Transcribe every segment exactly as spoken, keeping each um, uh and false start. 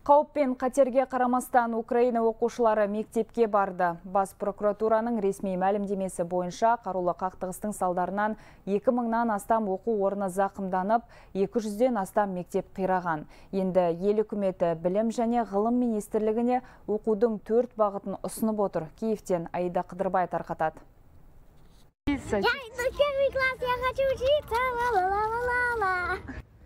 Қауіп пен қатерге қарамастан Украина оқушылары мектепке барды. Бас прокуратураның ресми мәлімдемесі бойынша қарулы қақтығыстың салдарынан екі мыңнан астам оқу орны зақымданып, екі жүзден астам мектеп қираған. Енді ел үкіметі білім және ғылым министрлігіне оқудың төрт бағытын ұсынып отыр. Киевтен Аида Қыдырбай тарқатады.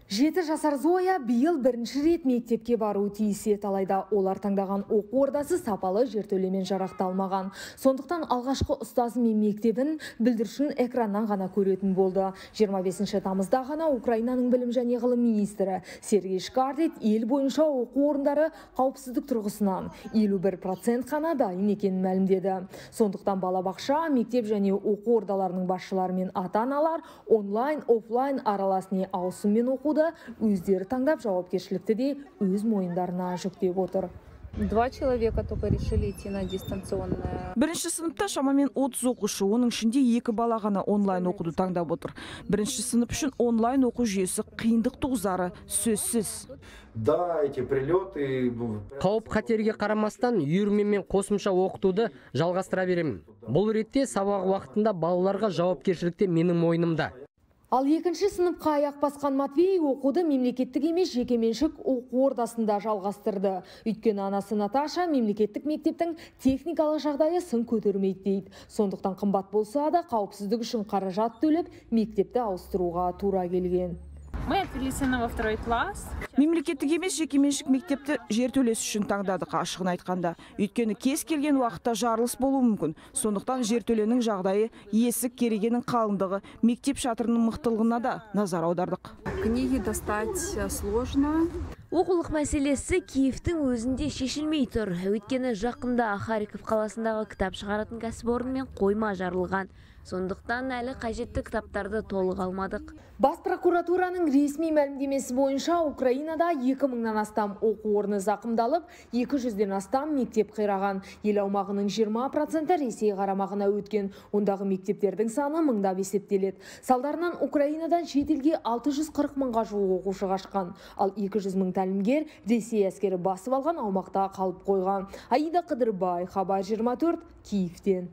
Жеті жасар Зоя биыл бірінші рет мектепке бару тиіс еді, алайда олар таңдаған оқу ордасы сапалы жертөлемен жарақталмаған. Сондықтан алғашқы ұстазы мен мектебін бүлдіршін экраннан ғана көретін болды. жиырма бесінші тамызда ғана Украинаның білім және ғылым министрі Сергей Шкарлет ел бойынша оқу орындары қауіпсіздік тұрғысынан елу бір процент қана дайын екенін мәлімдеді. Сондықтан балабақша, мектеп және оқу ордаларының басшылары мен ата-аналар онлайн, офлайн аралас не ауысыммен оқуды өздері таңдап жауапкершілікті де өз мойындарына жүктеп отыр. Два человека только решили идти на дистанционное. Бірінші сыныпта шамамен отыз оқушы, оның ішінде екі бала ғана онлайн оқуды таңдап отыр. Бірінші сынып үшін онлайн оқу жүйесі қиындық туғызары сөзсіз. Да, эти прилеты. Қауіп қатерге қарамастан үйірмемен қосымша оқытуды жалғастыра беремін. Бұл ретте сабақ уақытында балаларға жауапкершілікте менің мойнымда. Ал екінші сыныпқа аяқ басқан Матвей оқуды мемлекеттік емес жекеменшік оқу ордасында жалғастырды. Өйткені анасы Наташа мемлекеттік мектептің техникалық жағдайы сын көтермейді дейді. Сондықтан қымбат болса да қауіпсіздік үшін қаражат төлеп мектепті ауыстыруға тура келген. Мы отвели сына во второй класс. Мемлекеттік емес жекеменшік мектепті жертөлесі үшін таңдадық, ашығын айтқанда. Өйткені кез келген уақытта жарылыс болуы мүмкін. Сондықтан жертөленің жағдайы, есік керегенің қалыңдығы, мектеп шатырының мықтылығына да назар аудардық. Книги достать сложно. Оқулық мәселесі Киевтің өзінде шешілмей тұр. Өйткені жақында Харьков қаласындағы кітап шығаратын кәсіпорын мен қойма жарылған. Сондықтан әлі қажетті кітаптарды толық алмадық. Бас прокуратураның ресми мәлімдемесі бойынша Украинада екі мыңнан астам оқу орны зақымдалып, екі жүзден астам мектеп қираған. Ел аумағының жиырма проценті Ресей қарамағына өткен. Ондағы мектептердің саны мыңдап есептеледі. Салдарынан Украинадан шетелге алты жүз қырық мыңға жуық оқушы қашқан. Ал екі жүз мың тәлімгер Ресей әскері басып алған аумақта қалып қойған. Аида Қыдырбай, Хабар жиырма төрт, Киевтен.